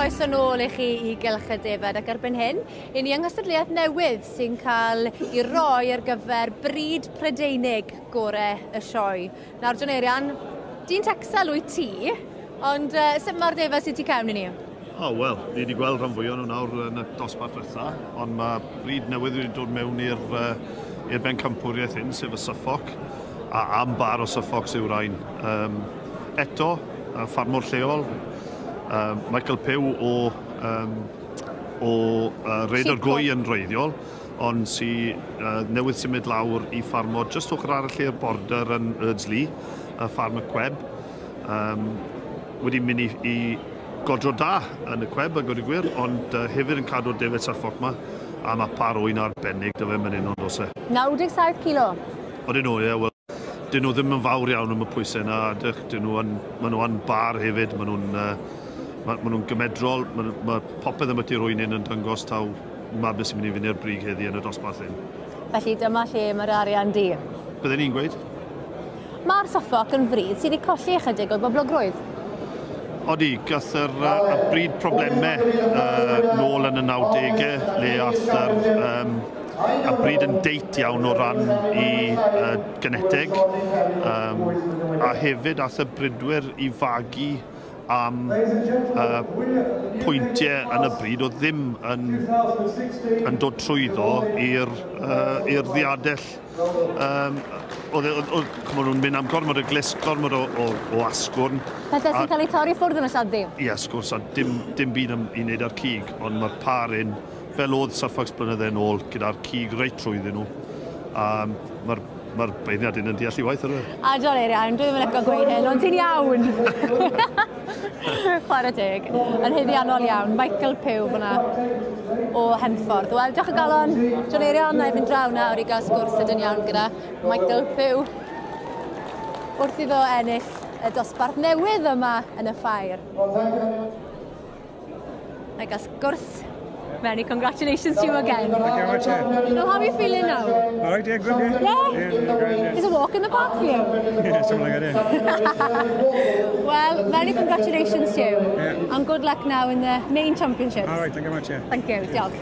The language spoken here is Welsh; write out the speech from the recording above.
Croeso nôl i chi i Gylch y Defaid ac erbyn hyn, i ni yng nghystadleuaeth newydd sy'n cael ei roi ar gyfer bryd Prydeinig gore y sioe. Nawr, John Eirian, dyn Texel wyt ti, ond sut mae'r defaid sydd tu cefn i ni? O, oh, wel, ni wedi gweld rhan fwyaf nhw nawr yn y dosbarth diwetha, ond mae bryd newydd wedi dod mewn i'r i'r bencampwriaeth hyn, sef y Suffolk, a am bar o Suffolks yw'r rhain. Eto, ffarmwr lleol, Michael Pugh o Rhaeadr Gwy yn wreiddiol, ond sy newydd symud lawr i ffarmo jyst ochr arall i'r border yn Erdsley, y ffarm y Cweb. Wedi mynd i godro da yn y Cweb, a gweud y gwir, ond hefyd yn cadw'r defaid Suffolk 'ma, a mae par ŵyn arbennig 'da fe fan hyn ond oes e. 97 kilo. Odyn nhw, ie, wel, dyn nhw ddim yn fawr iawn am y pwysau yna, a dych, dyn nhw yn, maen nhw yn bar hefyd, maen nhw'n gymedrol, ma popeth am y ŵyn hyn yn dangos taw ma beth sy'n mynd i fynd i'r brig heddi yn y dosbarth hyn. Felly dyma lle mae'r arian du. Bydden ni'n gweud? Mae'r Suffolk yn frid sydd wedi colli ychydig o'i boblogrwydd. Odi, gath y bryd problemau nôl yn y 90au, le ath y bryd yn deit iawn o ran i geneteg. A hefyd ath y bridwyr i fagu am pwyntiau yn y bryd oedd ddim yn dod trwyddo i'r ddiadell. Oedd nhw'n mynd am gormod o glust, gormod o asgwrn. Pethau sy'n cael eu torri ffwrdd yn y lladd-dy. Ie, wrth gwrs, a dim byd i wneud â'r cig, ond mae'r par un, fel oedd Suffolks blynydde yn ôl, gyda'r cig reit trwyddyn nhw. A mae'r beirniad un yn deall i waith ar y. A John Eirian, dwi ddim yn licio gweud hyn, ond ti'n iawn. Chwarae teg. Yn haeddiannol iawn. Michael Pugh fyna o Henffordd. Wel, diolch o galon. John Eirian, na i fynd draw nawr i gael sgwrs sydyn iawn gyda Michael Pugh wrth iddo ennill y dosbarth newydd yma yn y ffair. Na i gael sgwrs. Many congratulations to you again. Thank you very much. Yeah. So how are you feeling now? All right, yeah, good, yeah. Yeah? Yeah, great, yeah. It's a walk in the park for you. Yeah, something like that, yeah. Well, many congratulations to you. Yeah. And good luck now in the main championships. All right, thank you very much, yeah. Thank you, diolch.